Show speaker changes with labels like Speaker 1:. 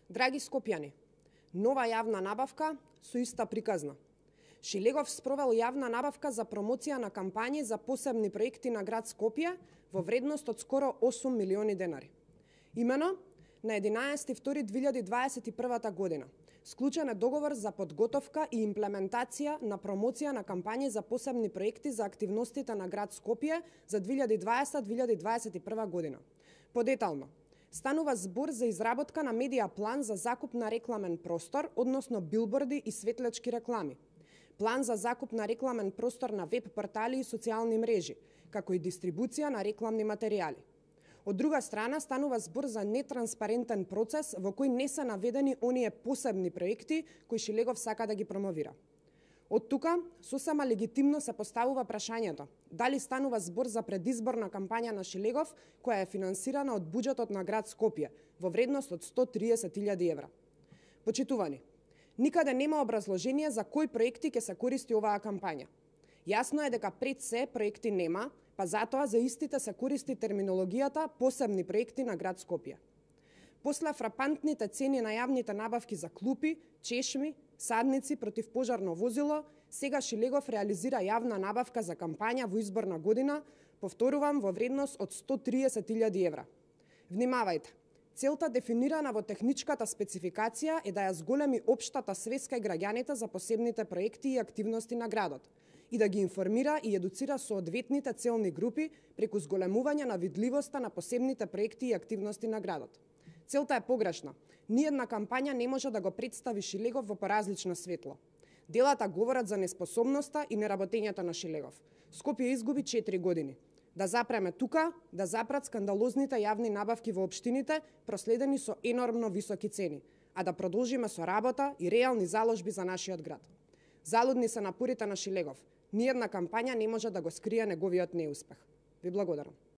Speaker 1: Драги скопјани, нова јавна набавка со иста приказна. Шилегов спровел јавна набавка за промоција на кампањи за посебни проекти на град Скопје во вредност од скоро 8 милиони денари. Имено, на 11.2.2021 година склучен е договор за подготовка и имплементација на промоција на кампањи за посебни проекти за активностите на град Скопје за 2020-2021 година. Подетално, станува збор за изработка на медија план за закуп на рекламен простор, односно билборди и светлечки реклами, план за закуп на рекламен простор на веб портали и социјални мрежи, како и дистрибуција на рекламни материјали. Од друга страна, станува збор за нетранспарентен процес во кој не се наведени оние посебни проекти кои Шилегов сака да ги промовира. Од тука, сосема легитимно се поставува прашањето дали станува збор за предизборна кампања на Шилегов која е финансирана од буџетот на град Скопје во вредност од 130.000 евра. Почитувани, никаде нема образложение за кои проекти ќе се користи оваа кампања. Јасно е дека пред се проекти нема, па затоа за истите се користи терминологијата посебни проекти на град Скопје. После фрапантните цени на јавните набавки за клупи, чешми, садници, противпожарно возило, сега Шилегов реализира јавна набавка за кампања во изборна година, повторувам, во вредност од 130.000 евра. Внимавајте, целта дефинирана во техничката спецификација е да ја зголеми општата свест кај граѓаните за посебните проекти и активности на градот и да ги информира и едуцира соодветните целни групи преку зголемување на видливоста на посебните проекти и активности на градот. Целта е погрешна. Ниедна кампања не може да го представи Шилегов во поразлично светло. Делата говорат за неспособноста и неработењето на Шилегов. Скопје изгуби 4 години. Да запреме тука, да запрат скандалозните јавни набавки во општините, проследени со енормно високи цени, а да продолжиме со работа и реални заложби за нашиот град. Залудни се напорите на Шилегов. Ниедна кампања не може да го скрие неговиот неуспех. Ви благодарам.